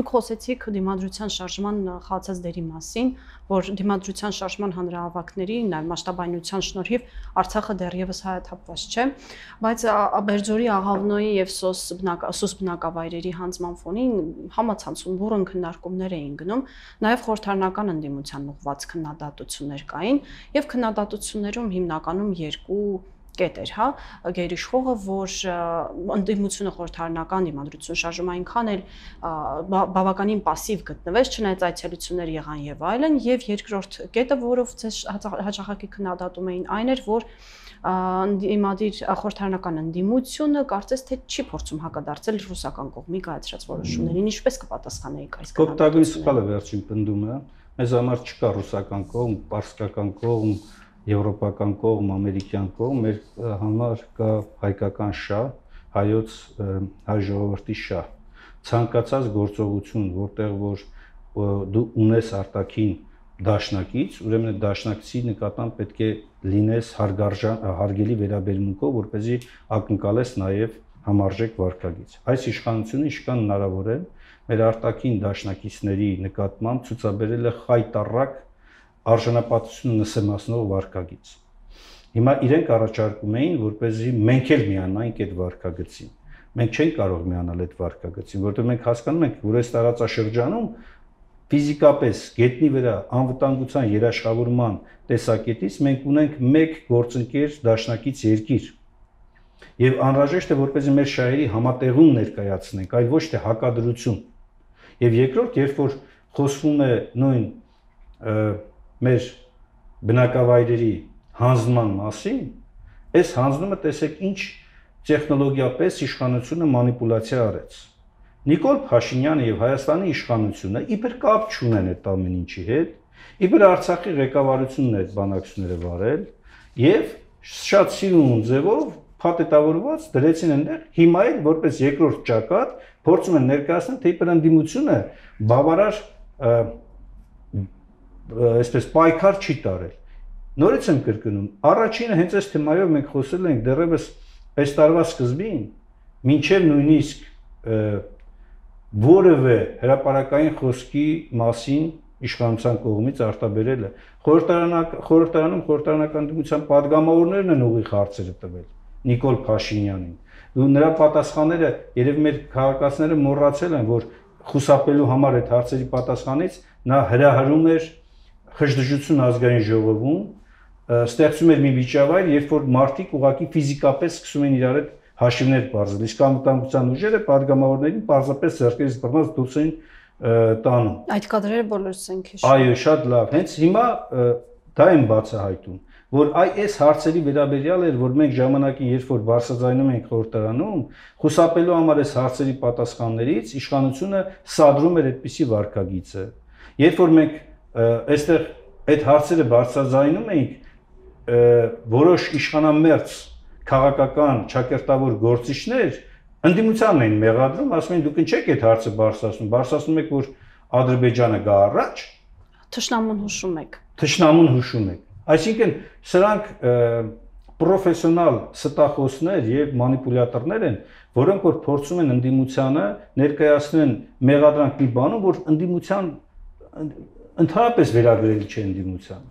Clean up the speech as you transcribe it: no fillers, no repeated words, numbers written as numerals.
Դուք խոսեցիք դիմադրության շարժման խաղացած դերի մասին, որ դիմադրության շարժման հանրահավաքների, նաև մասշտաբայնության շնորհիվ Արցախը դեռևս հայաթափված չէ, բայց Աբերձորի, Աղավնոյի եւ Սոս բնակավայրերի հանձնման ֆոնին համացանցում բուռն քննարկումներ էին գնում, նաև խորհրդարանական ընդդիմության ուղղված քննադատություններ կային եւ քննադատություններում հիմնականում երկու կետ էր, հա, գերիշխողը, որ ընդդիմությունը խորհրդարանական դիմադրություն շարժում այնքան էլ բավականին пассив գտնվեց, չնայած այցելություններ եղան եւ այլն, եւ երկրորդ կետը, որով ձեզ հաճախակի քննադատում էին, այն էր, որ ընդդիմադիր խորհրդարանական ընդդիմությունը կարծես թե չի փորձում հակադարձել ռուսական կողմի կայացրած որոշումներին, ինչպես կպատասխանեիք այս քննադատություններին։ Կոպտագույն սխալը վերջին պնդումը, մեզ համար չկա ռուսական կողմ, պարսկական կողմ, եվրոպական կողմ, ամերիկյան կողմ, մեր համար կա հայկական շահ, հայոց հայ ժողովրդի շահ։ Ցանկացած գործողություն, որտեղ որ դու ունես արտաքին դաշնակից, ուրեմն դաշնակցի նկատմամբ պետք է լինես հարգելի վերաբերմունքով, որպեսզի ակնկալես նաև համարժեք վարքագիծ։ Այս իշխանությունը ինչքան հնարավոր է մեր արտաքին դաշնակիցների նկատմամբ ցուցաբերել է խայտառակ արժանապատվությունը նսեմացնող վարքագիծ։ Հիմա իրենք առաջարկում էին, որպեսզի մենք էլ միանայինք այդ վարքագծին։ Մենք չենք կարող միանալ այդ վարքագծին, որովհետև մենք հասկանում ենք, որ այս տարածաշրջանում ֆիզիկապես գետնի վրա անվտանգության երաշխավորման տեսակետից մենք ունենք մեկ գործընկեր դաշնակից երկիր։ Եվ անհրաժեշտ է, որպեսզի մեր շահերի համատեղում ներկայացնենք, այլ ոչ թե հակադրություն։ Եվ երկրորդ, երբ որ խոսվում է նույն մեր բնակավայրերի հանձնման մասին, այս հանձնումը տեսեք ինչ տեխնոլոգիապես իշխանությունը մանիպուլյացիա արեց։ Նիկոլ Փաշինյանը եւ Հայաստանի իշխանությունը իբր կապ չունեն այդ ամեն ինչի հետ, իբր Արցախի ղեկավարությունն է այդ բանակցությունները վարել եւ շատ սիրուն ձևով փաթեթավորված դրեցին այնտեղ, հիմա էլ որպես երկրորդ ճակատ փորձում են ներկայացնել, թե իբր ընդդիմությունը բավարար այսպես պայքար չի տարել։ Նորից եմ կրկնում, առաջինը հենց այս թեմայով մենք խոսել ենք դեռևս այս տարվա սկզբին, մինչև նույնիսկ որևէ հրապարակային խոսքի մասին իշխանության կողմից արտաբերելը։ Խորհրդարանում խորհրդարանական դիմության падգամավորներն են ուղիղ հարցերը տվել Նիկոլ Փաշինյանին։ Ու նրա պատասխանները երևի մեր քաղաքացիները մոռացել են, որ խուսափելու համար այդ հարցերի պատասխանից նա հրահրում էր խժդժություն ազգային ժողովում, ստեղծում էր մի միջավայր, երբ որ մարդիկ ուղղակի ֆիզիկապես սկսում են իրար հետ հաշիվներ բարձել, իսկ անվտանգության ուժերը падգամավորներին պարզապես ձեռքերից բռնած դուրս են տանում։ Այդ կադրերը բոլորս ենք հիշում։ Այո, շատ լավ։ Հենց հիմա դա եմ բացահայտում, որ այս հարցերի վերաբերյալ էր, որ մենք ժամանակին, երբ որ բարձրաձայնում ենք խորհրդարանում, խուսափելու համար այս հարցերի պատասխաններից իշխանությունը սադրում էր այդպիսի վարքագիծը։ Երբ որ մենք այստեղ այդ հարցերը բարձրաձայնում էինք, որոշ իշխանամերձ քաղաքական ճակերտավոր գործիչներ ընդդիմությանն էին մեղադրում, ասում էին դուք ինչ եք այդ հարցը բարձրացնում եք, որ Ադրբեջանը գա առաջ, թշնամուն հուշում եք։ Թշնամուն հուշում եք։ Այսինքն սրանք պրոֆեսիոնալ ստախոսներ եւ մանիպուլյատորներ են, որոնք որ փորձում են ընդդիմությանը ներկայացնեն մեղադրանք մի բանում, որ ընդդիմության ընդհանրապես վերագրելի չէ ընդդիմության։